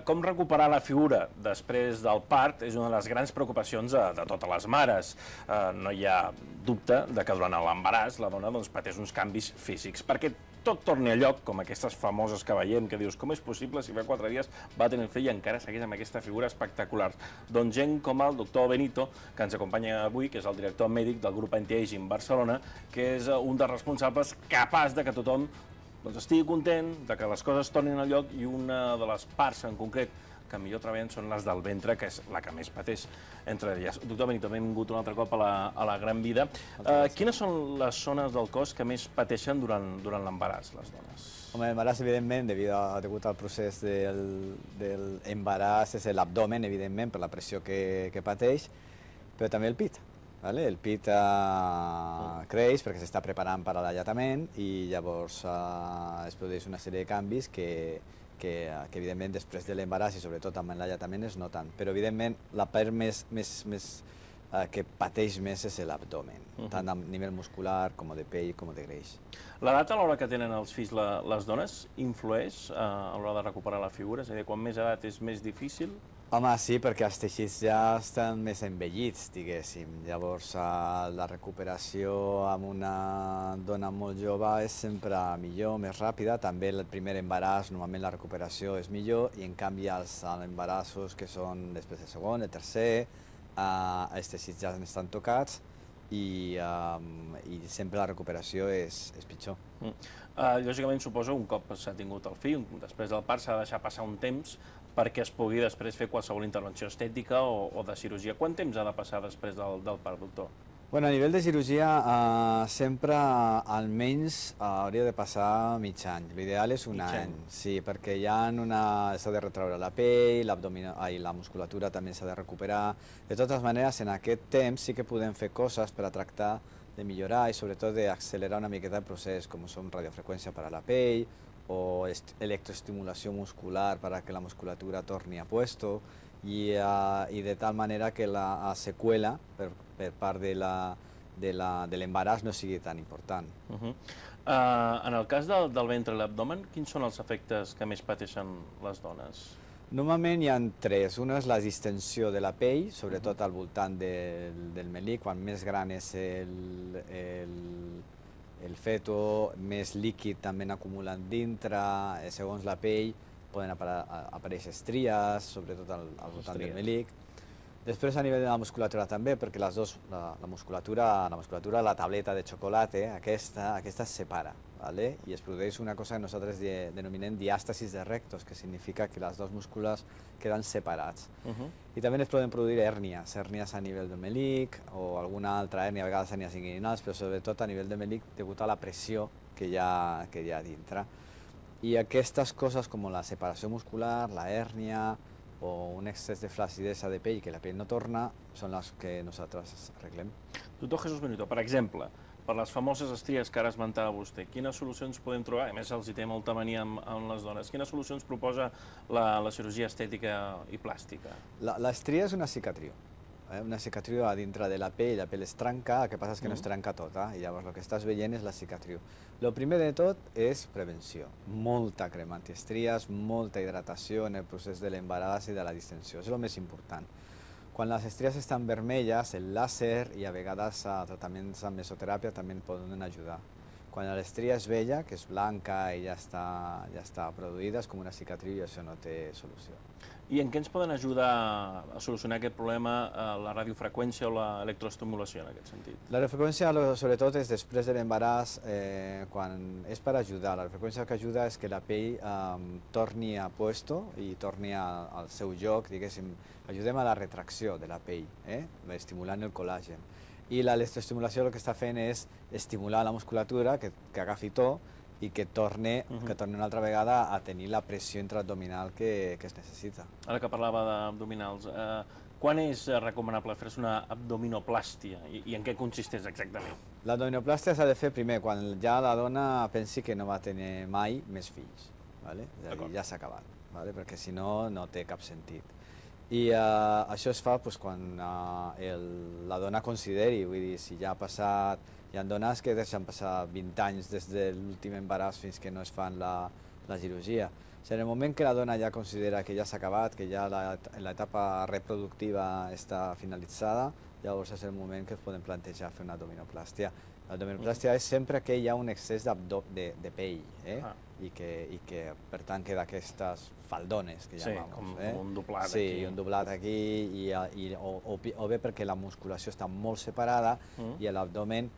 Com recuperar la figura després del part és una de les grans preocupacions de totes les mares. No hi ha dubte de que durant l'embaràs la dona pateix uns canvis físics, perquè tot torni a lloc, com aquestes famoses que veiem, que dius, com és possible si fa 4 dies va tenir el fill i encara segueix amb aquesta figura espectacular? Doncs gent com el doctor Benito, que ens acompanya avui, que és el director mèdic del grup Anti-Aging Barcelona, que és un dels responsables capaç de que tothom estigui content, de que les coses tornin al lloc, i una de les parts en concret que millor treballen són les del ventre, que és la que més pateix entre elles. Doctor Benito, benvingut un altre cop a la Gran Vida. Quines són les zones del cos que més pateixen durant l'embaràs, les dones? Home, l'embaràs, evidentment, degut al procés del embaràs, és l'abdomen, evidentment, per la pressió que pateix, però també el pit. El pit creix perquè s'està preparant per a l'alletament i llavors es produeix una sèrie de canvis que evidentment després de l'embaràs i sobretot amb l'alletament es noten. Però evidentment la part que pateix més és l'abdomen, tant a nivell muscular com de pell com de greix. L'edat a l'hora que tenen els fills les dones influeix a l'hora de recuperar la figura? És a dir, quan més edat és més difícil? Home, sí, perquè els teixits ja estan més envellits, diguéssim. Llavors, la recuperació amb una dona molt jove és sempre millor, més ràpida. També el primer embaràs, normalment la recuperació és millor, i en canvi els embarassos que són després del segon, el tercer, els teixits ja estan tocats i sempre la recuperació és pitjor. Lògicament, suposo, un cop s'ha tingut el fill, després del part s'ha de deixar passar un temps perquè es pugui després fer qualsevol intervenció estètica o de cirurgia. Quant temps ha de passar després del part, doctor? Bueno, a nivell de cirurgia, sempre almenys hauria de passar mig any. L'ideal és un any, sí, perquè s'ha de retraure la pell, la musculatura també s'ha de recuperar. De totes maneres, en aquest temps sí que podem fer coses per a tractar de millorar i sobretot d'accelerar una miqueta el procés, com són radiofreqüència per a la pell, o electroestimulació muscular para que la musculatura torni a puesto y de tal manera que la secuela per part de l'embaràs no sigui tan important. En el cas del ventre i l'abdomen, quins són els efectes que més pateixen les dones? Normalment hi ha 3. Una és la distensió de la pell, sobretot al voltant del melic. Quan més gran és el feto, més líquid també n'acumulen dintre, segons la pell poden aparèixer estries, sobretot al voltant del melic. Després a nivell de la musculatura també, perquè la musculatura, la tableta de xocolata, aquesta es separa, i es produeix una cosa que nosaltres denominem diàstasis de rectos, que significa que les dues múscules queden separats. I també es poden produir hèrnies a nivell del melic o alguna altra hèrnia, a vegades hèrnies inguinals, però sobretot a nivell del melic degut a la pressió que hi ha dintre. I aquestes coses com la separació muscular, la hèrnia o un excés de flacidesa de pell que la pell no torna, són les que nosaltres arreglem. Doctor Jesús Benito, per exemple, per les famoses estries que ara esmentava vostè, quines solucions podem trobar? A més, els hi té molta mania amb les dones. Quines solucions proposa la cirurgia estètica i plàstica? L'estria és una cicatriu. Una cicatriu a dintre de la pell es trenca, el que passa és que no es trenca tota, i llavors el que estàs veient és la cicatriu. El primer de tot és prevenció, molta crema antiestries, molta hidratació en el procés de l'embaràs i de la distensió, és el més important. Quan les estries estan vermelles, el làser i a vegades tractaments amb mesoteràpia també poden ajudar. Quan l'estria és vella, que és blanca i ja està produïda, és com una cicatriu i això no té solució. I en què ens poden ajudar a solucionar aquest problema la radiofreqüència o l'electroestimulació en aquest sentit? La radiofreqüència sobretot és després de l'embaràs, quan és per ajudar. La radiofreqüència que ajuda és que la pell torni a puesto i torni al seu lloc, diguéssim, ajudem a la retracció de la pell, estimulant el col·làgen. I l'electroestimulació el que està fent és estimular la musculatura, que agafi to, i que torni una altra vegada a tenir la pressió intraabdominal que es necessita. Ara que parlava d'abdominals, quan és recomanable fer-se una abdominoplàstia i en què consisteix exactament? L'abdominoplàstia s'ha de fer primer quan ja la dona pensi que no va tenir mai més fills. És a dir, ja s'ha acabat, perquè si no, no té cap sentit. I això es fa quan la dona consideri, vull dir, si ja ha passat. Hi ha dones que deixen passar 20 anys des de l'últim embaràs fins que no es fan la cirurgia. Si en el moment que la dona ja considera que ja s'ha acabat, que ja l'etapa reproductiva està finalitzada, llavors és el moment que es poden plantejar fer una abdominoplàstia. L'abdominoplàstia és sempre que hi ha un excés de pell, i que per tant queda aquestes faldones que llamamos. Sí, com un doblat aquí. Sí, un doblat aquí, o bé perquè la musculació està molt separada i l'abdomen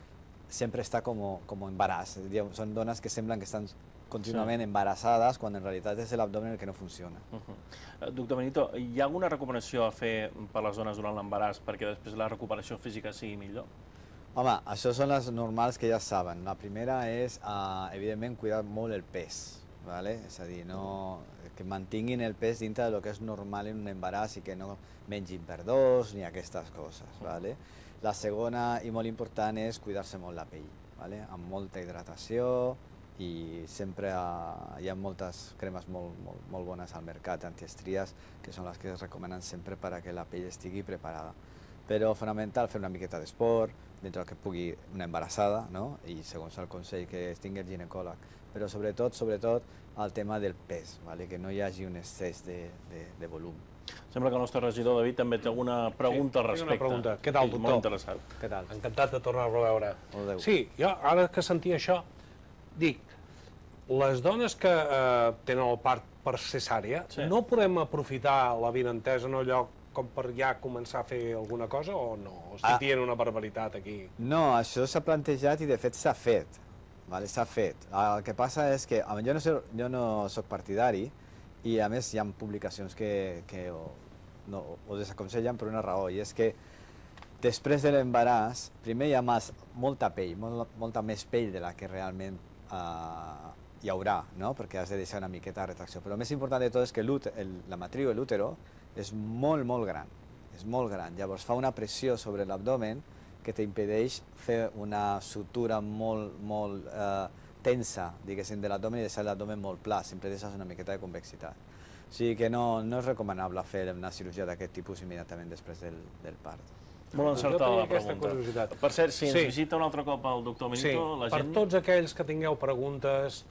sempre està com embaràs. Són dones que semblen que estan contínuament embarassades quan en realitat és l'abdomen el que no funciona. Doctor Benito, hi ha alguna recomanació a fer per les dones durant l'embaràs perquè després la recuperació física sigui millor? Home, això són les normals que ja saben. La primera és, evidentment, cuidar molt el pes. És a dir, que mantinguin el pes dintre del que és normal en un embaràs i que no mengin per dos ni aquestes coses. La segona i molt important és cuidar-se molt la pell, amb molta hidratació, i sempre hi ha moltes cremes molt bones al mercat, antiestries, que són les que es recomenen sempre perquè la pell estigui preparada. Però fonamental fer una miqueta d'esport, dintre del que pugui una embarassada, i segons el consell que tingui el ginecòleg. Però sobretot, el tema del pes, que no hi hagi un excés de volum. Sembla que el nostre regidor David també té alguna pregunta al respecte. Tinc una pregunta. Què tal, doctor? Molt interessat. Què tal? Encantat de tornar-lo a veure. Molt bé. Sí, jo ara que sentia això, dic, les dones que tenen el part per cesària, no podem aprofitar la vinentesa en el lloc com per ja començar a fer alguna cosa o no? Estic dient una barbaritat aquí. No, això s'ha plantejat i de fet s'ha fet. S'ha fet. El que passa és que jo no soc partidari i a més hi ha publicacions que ho desaconsellen per una raó, i és que després de l'embaràs, primer hi ha molta pell, molta més pell de la que realment hi haurà, perquè has de deixar una miqueta de retracció. Però el més important de tot és que la matriu, l'útero, és molt gran. És molt gran. Llavors fa una pressió sobre l'abdomen que t'impedeix fer una sutura molt tensa, diguéssim, de l'abdomen i deixar l'abdomen molt pla, sempre deixes una miqueta de convexitat. O sigui que no és recomanable fer una cirurgia d'aquest tipus immediatament després del part. Molt encertada la pregunta. Per cert, si ens visita un altre cop el doctor Benito, la gent... Per tots aquells que tingueu preguntes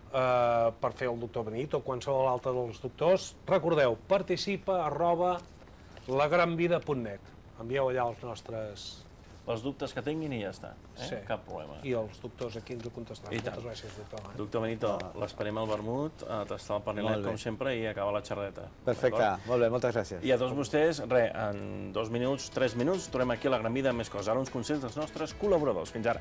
per fer el doctor Benito o qualsevol altre dels doctors, recordeu, participa@lagranvida.net. Envieu allà els nostres... Els dubtes que tinguin i ja està. Cap problema. I els doctors aquí ens ho contestaran. Moltes gràcies, doctor. Doctor Benito, l'esperem al vermut, a tastar el pernilet com sempre i acabar la xerreta. Perfecte, molt bé, moltes gràcies. I a tots vostès, en 2 minuts, 3 minuts, tornem aquí a La Gran Vida amb més coses. Ara uns consells dels nostres col·laboradors. Fins ara.